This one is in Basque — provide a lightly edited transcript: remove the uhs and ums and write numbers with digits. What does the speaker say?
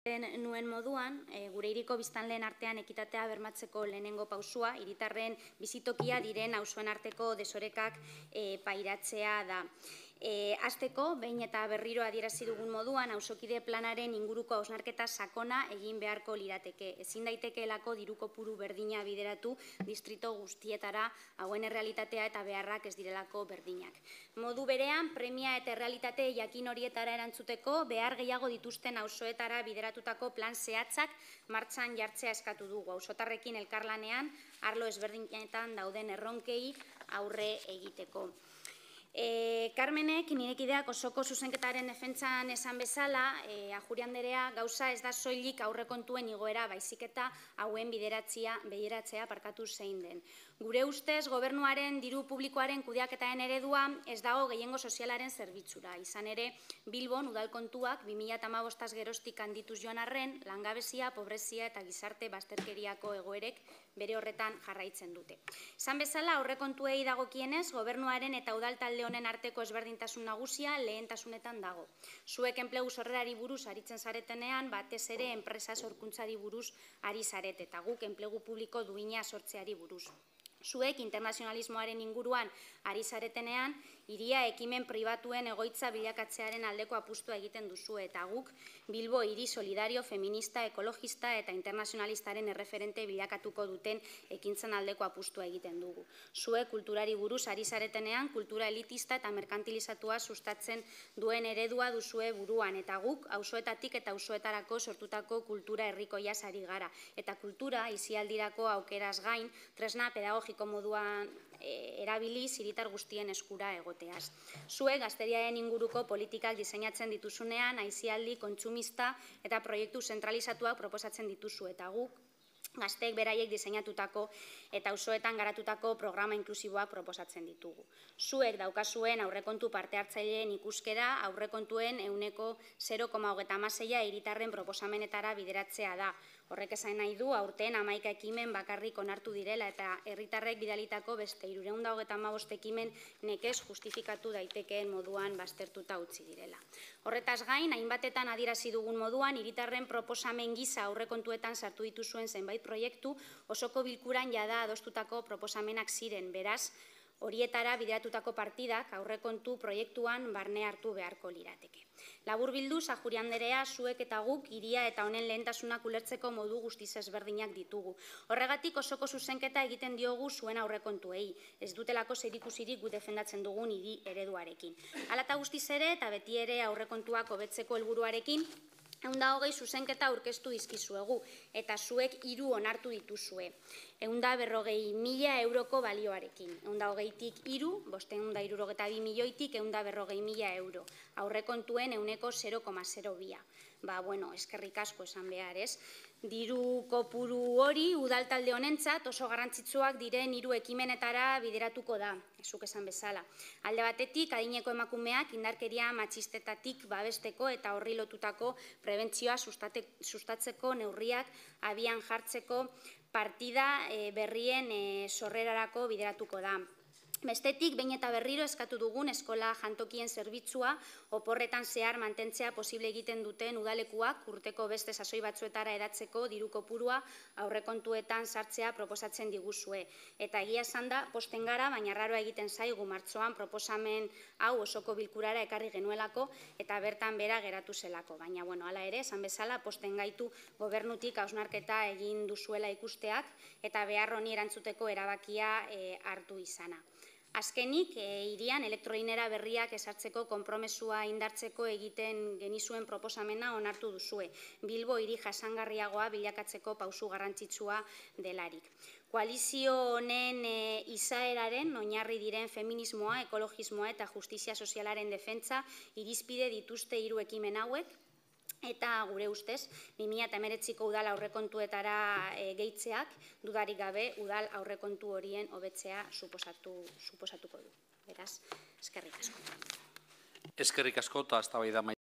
nuen moduan, gure hiriko biztanleen artean ekitatea bermatzeko lehenengo pausua, hiritarren bizitokia diren auzoen arteko desorekak pairatzea da. Hasteko, behin eta berriro adierazi dugun moduan, auzokide planaren inguruko hausnarketa sakona egin beharko lirateke. Ezin daitekeelako diru kopuru berdina bideratu distrito guztietara, hauen errealitatea eta beharrak ez direlako berdinak. Modu berean, premia eta errealitate jakin horietara erantzuteko, behar gehiago dituzten auzoetara bideratutako plan zehatzak martxan jartzea eskatu dugu. Auzotarrekin elkarlanean, arlo ezberdinetan dauden erronkei aurre egiteko. Carmenek, nirekideak osoko zuzenketaren defentsan esan bezala, Ajuri anderea gauza ez da soilik aurrekontuen igoera, baizik eta hauen bideratzea zein den. Gure ustez, gobernuaren diru publikoaren kudeaketaren eredua ez dago gehiengo sozialaren zerbitzura. Izan ere, Bilbon udalkontuak 2015 geroztik handituz joan arren, langabezia, pobrezia eta gizarte bazterkeriako egoerek bere horretan jarraitzen dute. Izan bezala, aurrekontuei dagokienez, gobernuaren eta udal talde honen arteko ezberdintasun nagusia lehentasunetan dago. Zuek enplegu sorrerari buruz aritzen zaretenean, batez ere enpresa sorkuntzari buruz ari zarete, eta guk enplegu publiko duina sortzeari buruz. Zuek internazionalismoaren inguruan ari zaretenean, hiria ekimen pribatuen egoitza bilakatzearen aldeko apustua egiten duzu, eta guk Bilbo hiri solidario, feminista, ekologista eta internazionalistaren erreferente bilakatuko duten ekintzen aldeko apustua egiten dugu. Zuek kulturari buruz ari zaretenean, kultura elitista eta merkantilizatua sustatzen duen eredua duzue buruan, eta guk auzoetatik eta auzoetarako sortutako kultura herrikoia ari gara, eta kultura isialdirako aukeraz gain, tresna pedagogiko moduan erabiliz hiritar guztien eskura egoteaz. Zuek gazteriaren inguruko politikak diseinatzen dituzunean, aisialdi, kontsumista eta proiektu zentralizatuak proposatzen dituzu, eta guk gazteek beraiek diseinatutako eta auzoetan garatutako programa inklusiboak proposatzen ditugu. Zuek daukazuen aurrekontu parte hartzaileen ikuskera aurrekontuen 0,36 hiritarren proposamenetara bideratzea da. Horrek esan nahi du, aurten 11 ekimen bakarrik onartu direla eta herritarrek bidalitako beste 325 ekimen nekez justifikatu daitekeen moduan baztertuta utzi direla. Horretaz gain, hainbatetan adierazi dugun moduan, hiritarren proposamen gisa aurrekontuetan sartu dituzuen zenbait proiektu osoko bilkuran jada adostutako proposamenak ziren, beraz, horietara bideratutako partidak aurrekontu proiektuan barne hartu beharko lirateke. Laburbilduz, Ajuri anderea, zuek eta guk hiria eta honen lehentasunak ulertzeko modu guztiz ezberdinak ditugu. Horregatik osoko zuzenketa egiten diogu zuen aurrekontuei, ez dutelako zerikusirik gu defendatzen dugun hiri ereduarekin. Hala eta guztiz ere eta beti ere aurrekontuak hobetzeko helburuarekin, 120 zuzenketa aurkeztu dizkizuegu, eta zuek 3 onartu dituzue. 140.000 euroko balioarekin. 120tik 3, 572 milioitik 140.000 euro. Aurrekontuen 0,02. Eskerrik asko esan behar, ez? Diru kopuru hori udaltalde honentzat oso garrantzitsuak diren 3 ekimenetara bideratuko da, zuk esan bezala. Alde batetik, adineko emakumeak indarkeria matxistetatik babesteko eta horri lotutako prebentzioa sustatzeko neurriak abian jartzeko partida berrien sorrerarako bideratuko da. Bestetik, behin eta berriro eskatu dugun eskola jantokien zerbitzua oporretan zehar mantentzea posible egiten duten udalekuak urteko beste sasoi batzuetara edatzeko diru kopurua aurrekontuetan sartzea proposatzen diguzue. Eta egia esan da, posten gara, baina raroa egiten zaigu martxoan proposamen hau osoko bilkurara ekarri genuelako eta bertan bera geratu zelako. Baina, hala ere, esan bezala, posten gaitu gobernutik hausnarketa egin duzuela ikusteak eta behar honi erantzuteko erabakia hartu izana. Azkenik, hirian elektrolinera berriak ezartzeko konpromesua indartzeko egiten genizuen proposamena onartu duzue. Bilbo hiri jasangarriagoa bilakatzeko pausu garrantzitsua delarik. Koalizio honen izaeraren oinarri diren feminismoa, ekologismoa eta justizia sozialaren defentsa irizpide dituzte 3 ekimen hauek, eta gure ustez, 2019ko udal aurrekontuetara gehitzeak, dudarik gabe, udal aurrekontu horien hobetzea suposatuko du. Beraz, eskerrik asko. Eskerrik asko eta eztabaida